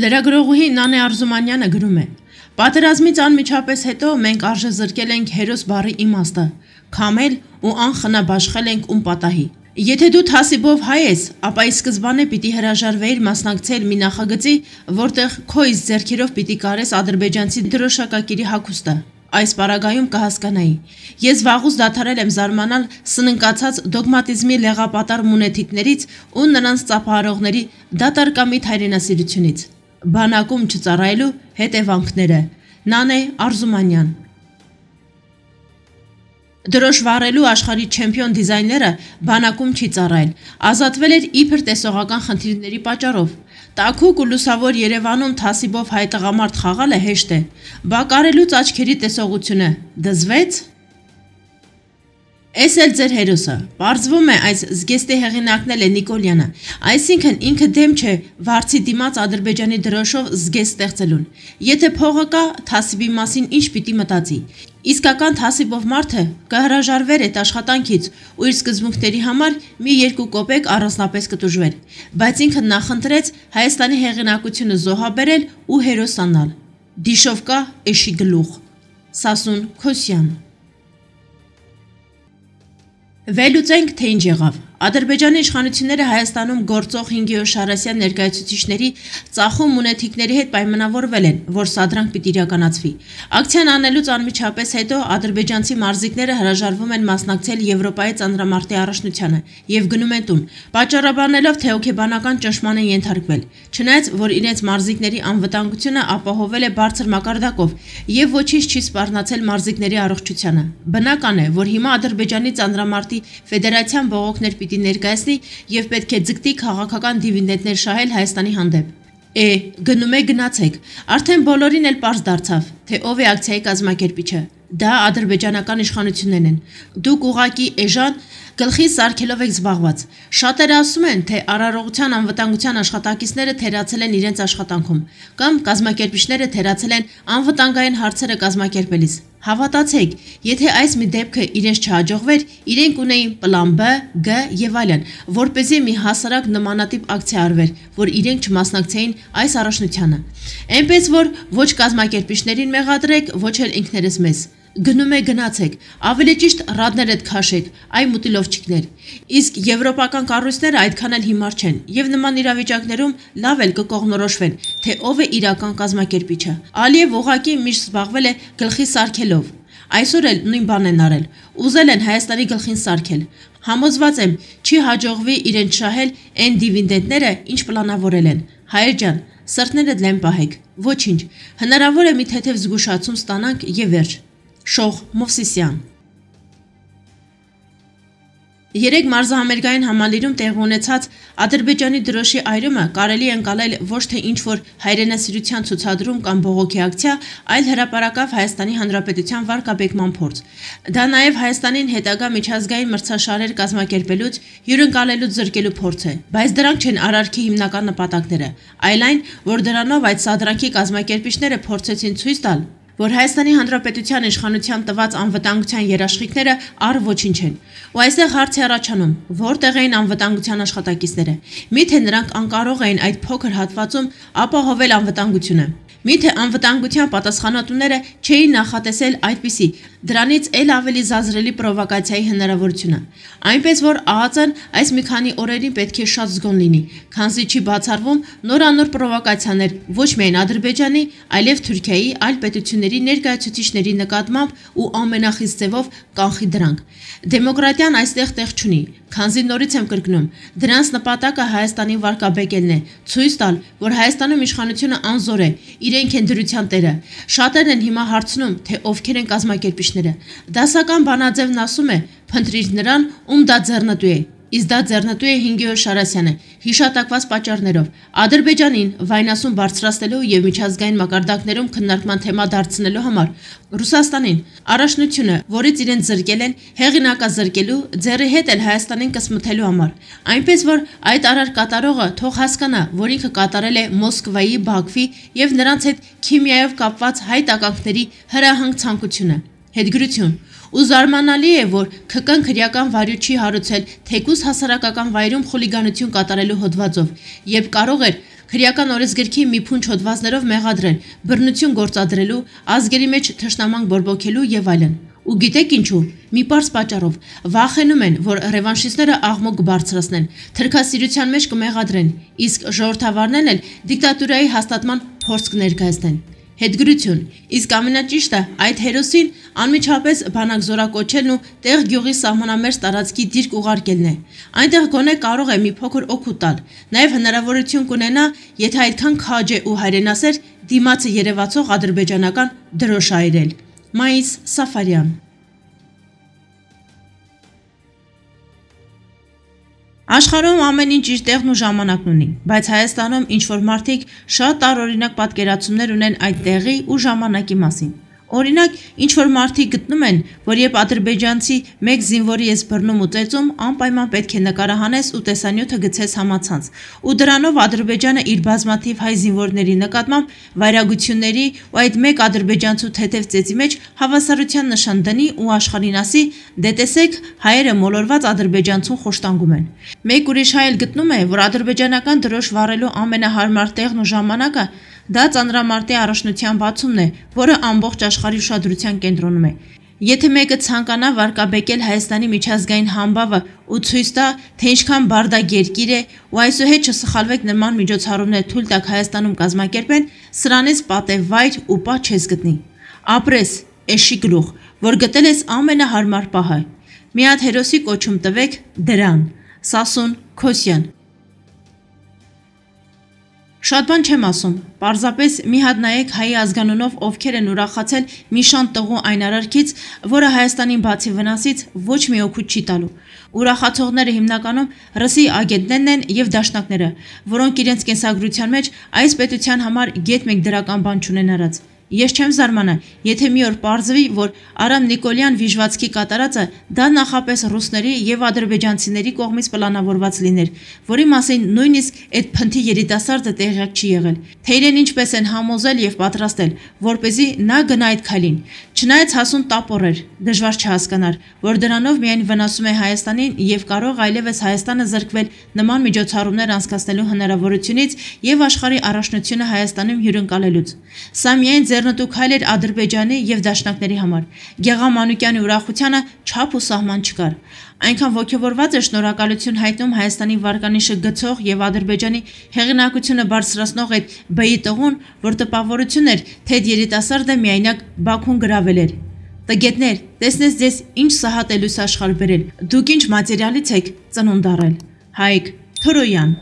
Լրագրողուհի Նանե Արզումանյանը գրում է. «Պատերազմից անմիջապես հետո մենք արժե զրկել ենք հերոս բառի իմաստը, քամել ու անխնաբաշխել ենք ում պատահի։ Եթե դու թասիբով հայ ես, ապա ի սկզբանե պիտի հրաժարվեիր մասնակցել մի նախագծի, որտեղ քո իսկ ձեռքերով պիտի կարես ադրբեջանցի դրոշակակիրի հագուստը։ Այս պարագայում կհասկանայի։ Ես վաղուց դադարել եմ զարմանալ սննկացած դոգմատիզմի լեղապատար մունետիկներից ու նրանց ծափահարողների դատարկամիտ հայրենասիրությունից։ Բանակում չծառայելու հետևանքները։ Նանե Արզումանյան։ Դրոշ վառելու աշխարհի չեմպիոն դիզայները բանակում չի ծառայել, ազատվել էր իբր տեսողական խնդիրների պատճառով։ Տաքուկ ու լուսավոր Երևանում թասիբով հայ տղամարդ խաղալը հեշտ է, բա կարելուց աչքերի տեսողությունը դզվեց։ Էս էլ ձեր հերոսը, պարզվում է այս զգեստի հեղինակն է Նիկոլյանը, այսինքն ինքը դեմ չէ վարձի դիմաց Ադրբեջանի դրոշով զգեստ ստեղծելուն։ Եթե փողը կա, թասիբի մասին ինչ պիտի մտածի։ Իսկական թասիբով մարդը կհրաժարվեր այդ աշխատանքից ու իր սկզբունքների համար մի 2 կոպեկ առանձնապես կտուժվեր, բայց ինքը նախընտրեց Հայաստանի հեղինակությունը զոհաբերել ու հերոսանալ։ Դիշովկա էշի գլուխ։ Սասուն Քոսյան։ Վերլուծենք, թե ինչ եղավ։ Ադրբեջանի իշխանությունները Հայաստանում գործող 5 օր Շարասյան ներկայացուցիչների ծախում մունետիկների հետ պայմանավորվել են, որ սադրանք պիտի իրականացվի։ Ակցիան անելուց անմիջապես հետո ադրբեջանցի մարզիկները հրաժարվում են մասնակցել Եվրոպայի ծանրամարտի առաջնությանը եւ գնում են տուն, պատճառաբանելով, թե հոգեբանական ճնշման են ենթարկվել, չնայած որ իրենց մարզիկների անվտանգությունը ապահովել է բարձր մակարդակով եւ ոչինչ չի սպառնացել մարզիկների առողջությանը։ Բնական է, որ հիմա Ադրբեջանի ծանրամարտի ֆեդերացիան բողոքներ պիտի ներկայացնի եւ պետք է ձգտի քաղաքական դիվիդենդներ շահել Հայաստանի հանդեպ։ Գնում է գնացեք։ Արդեն բոլորին էլ պարզ դարձավ, թե ով է ակցիայի կազմակերպիչը։ Դա ադրբեջանական իշխանություններն են։ Դուք ուղակի էժան գլխի սարքելով եք զբաղված։ Շատերը ասում են, թե արարողության անվտանգության աշխատակիցները թերացել են իրենց աշխատանքում, կամ կազմակերպիչները թերացել են անվտանգային հարցերը կազմակերպելիս։ Հավատացեք, եթե այս մի դեպքը իրենց չհաջողվեր, իրենք ունեին պլան B, G եւ այլն, որպեսզի մի հասարակ նմանատիպ ակցիա արվեր, որ իրենք չմասնակցեին այս առաջնությանը։ Այնպես որ ոչ կազմակերպիչներին մեղադրեք, ոչ էլ ինքներս մեզ։ Գնում է գնացեք, ավելի ճիշտ ռադներդ քաշեք, այ մուտիլովչիկներ։ Իսկ եվրոպական կառույցները այդքան էլ հիմար չեն եւ նման իրավիճակներում լավ էլ կկողմնորոշվեն, թե ով է իրական կազմակերպիչը։ Ալիև ուղղակի միշտ զբաղվել է գլխի սարքելով։ Այսօր էլ նույն բանն են արել։ Ուզել են Հայաստանի գլխին սարքել։ Համոզված եմ, չի հաջողվի իրենց շահել այն դիվիդենդները, ինչ պլանավորել են։ Հայեր ջան, սրտներդ լեն պահեք։ Ոչինչ։ Հնարավոր է մի թեթև զգուշացում ստանանք եւ վերջ։ Շող Մովսիսյան։ Երեք մարզահամերգային համալիրում տեղի ունեցած Ադրբեջանի դրոշի այրումը կարելի է ընկալել ոչ թե ինչ-որ հայրենասիրության ցուցադրում կամ բողոքի ակցիա, այլ հրապարակավ Հայաստանի Հանրապետության վարկաբեկման փորձ։ Դա նաև Հայաստանին հետագա միջազգային մրցաշարեր կազմակերպելուց հյուրընկալելուց զրկելու փորձ է, բայց դրանք չեն արարքի հիմնական նպատակները, այլ այն, որ դրանով այդ սադրանքի կազմակերպիչները փորձեցին ցույց տալ, որ Հայաստանի Հանրապետության իշխանության տված անվտանգության երաշխիքները առ ոչինչ են։ Ու այստեղ հարց է առաջանում, որտեղ էին անվտանգության աշխատակիցները։ Միթե նրանք անկարող էին այդ փոքր հատվածում ապահովել անվտանգությունը։ Միթե անվտանգության պատասխանատուները չէին նախատեսել այդպիսի, դրանից էլ ավելի զազրելի պրովոկացիայի հնարավորությունը։ Այնպես որ ԱԱԾ-ն այս մի քանի օրերին պետք է շատ զգոն լինի, քանզի չի բացառվում նորանոր պրովոկացիաներ ոչ միայն Ադրբեջանի, այլև Թուրքիայի այլ պետությունների ներկայացուցիչների նկատմամբ ու ամենախիստ ձևով կանխի դրանք։ Դեմոկրատիան այստեղ տեղ չունի, քանզի նորից եմ կրկնում, դրանց նպատակը Հայաստանին վարկաբեկելն է, ցույց տալ, որ Հայաստանում իշխանությունը անզոր է, իրենք են դրության տերը։ Շատերն են հիմա հարցնում, թե ովքեր են կազմակերպիչները։ Դասական բանաձևն ասում է, փնտրիր նրան, ում դա ձեռնտու է։ Իսկ դա ձեռնտու է 5 օր Շարասյանը, հիշատակված պատճառներով, Ադրբեջանին վայնասուն բարձրացնելու եւ միջազգային մակարդակներում քննարկման թեմա դարձնելու համար, Ռուսաստանին առաջնությունը, որից իրենց զրկել են, հեղինակազրկելու, ձեռի հետ էլ Հայաստանին կսմթելու համար։ Այնպես որ այդ արար կատարողը թող հասկանա, որ ինքը կատարել է Մոսկվայի, Բաքվի եւ նրանց հետ քիմիայով կապված հայ տականքների հրահանգ ցանկությունը։ Հետգրություն։ Ու զարմանալի է, որ ՔԿ-ն քրեական վարույթ չի հարուցել թեկուզ հասարակական վայրում խուլիգանություն կատարելու հոդվածով, երբ կարող էր Քրեական օրենսգրքի մի փունջ հոդվածներով մեղադրել, բռնություն գործադրելու, ազգերի մեջ թշնամանք բորբոքելու եւ այլն։ Ու գիտեք ինչու։ Մի պարզ պատճառով վախենում են, որ ռևանշիստները աղմուկ կբարձրացնեն, թրքասիրության մեջ կմեղադրեն, իսկ ժողովրդավարներն էլ դիկտատուրայի հաստատման փորձ կներկայացնեն։ Հետգրություն, իսկ ամենաճիշտը այդ հերոսին անմիջապես բանակ զորակոչելն ու տեղ գյուղի սահմանամերձ տարածքի դիրք ուղարկելն է։ Այնտեղ գոնե կարող է մի փոքր օգուտ տալ, նաև հնարավորություն կունենա, եթե այդքան քաջ է ու հայրենասեր, դիմացը երևացող ադրբեջանական դրոշ այրել։ Մայիս Սաֆարյան։ Աշխարհում ամեն ինչ իր տեղն ու ժամանակն ունի, բայց Հայաստանում ինչ-որ մարդիկ շատ տարօրինակ պատկերացումներ ունեն այդ տեղի ու ժամանակի մասին։ Օրինակ, ինչ-որ մարդիկ գտնում են, որ երբ ադրբեջանցի մեկ զինվորի ես բռնում ու ծեծում, անպայման պետք է նկարահանես ու տեսանյութը գցես համացանց, ու դրանով Ադրբեջանը իր բազմաթիվ հայ զինվորների նկատմամբ վայրագությունների ու այդ մեկ ադրբեջանցու թեթև ծեծի մեջ հավասարության նշան դնի ու աշխարհին ասի՝ դե տեսեք, հայերը մոլորված ադրբեջանցուն խոշտանգում են։ Մեկ ուրիշ հայ էլ գտնում է, որ ադրբեջանական դրոշ վառելու ամենահարմար տեղն ու ժամանակը դա ծանրամարտի առաջնության բացումն է, որը ամբողջ աշխարհի ուշադրության կենտրոնում է։ Եթե մեկը ցանկանա վարկաբեկել Հայաստանի միջազգային համբավը ու ցույց տա, թե ինչքան բարդակ երկիր է, ու այսուհետ չսխալվեք նման միջոցառումներ թույլ տաք Հայաստանում կազմակերպեն, սրանից պատեվ վայր ու պահ չես գտնի։ Ապրես, էշի գլուխ, որ գտել ես ամենահարմար պահը։ Մի հատ հերոսի կոչում տվեք դրան։ Սասուն Քոսյան։ Շատ բան չեմ ասում, պարզապես մի հատ նայեք հայի ազգանունով ովքեր են ուրախացել մի շան տղու այն արարքից, որը Հայաստանին բացի վնասից ոչ մի օգուտ չի տալու։ Ուրախացողները հիմնականում ռսի ագենտներն են եւ դաշնակները, որոնք իրենց կենսագրության մեջ այս պետության համար գետ մեկ դրական բան չունենարած։ Ես չեմ զարմանա, եթե մի օր պարզվի, որ Արամ Նիկոլյան Վիժվացքի կատարածը դա նախապես ռուսների եւ ադրբեջանցիների կողմից պլանավորված լիներ, որի մասին նույնիսկ այդ փնթի երիտասարդը տեղյակ չի եղել, թե իրեն ինչպես են համոզել եւ պատրաստել, որպեսզի նա գնա այդ քայլին։ Չնայած հասուն տապոր էր, դժվար չհասկանար, որ դրանով միայն վնասում է Հայաստանին եւ կարող այլևս Հայաստանը զրկվել նման միջոցառումներ անցկացնելու հնարավորությունից եւ աշխարհի առաջնությունը Հայաստանում հյուրընկալելուց։ Սա միայն ձեռնտու քայլ էր Ադրբեջանի եւ դաշնակների համար։ Գեղամ Մանուկյանի ուրախությանը չափ ու սահման չկար։ Այնքան ոգևորված էր շնորհակալություն հայտնում Հայաստանի վարկանիշը գցող եւ Ադրբեջանի հեղինակությունը բարձրացնող այդ բեի տղուն, որ տպավորություն էր, թե երիտասարդը միայնակ Բաքուն գրավել էր։ Տգետներ, տեսնես ձեզ ինչ սահատ է լույս աշխարհ բերել։ Դուք ինչ մատերիալից եք ծնունդ առել։ Հայկ Թորոյան։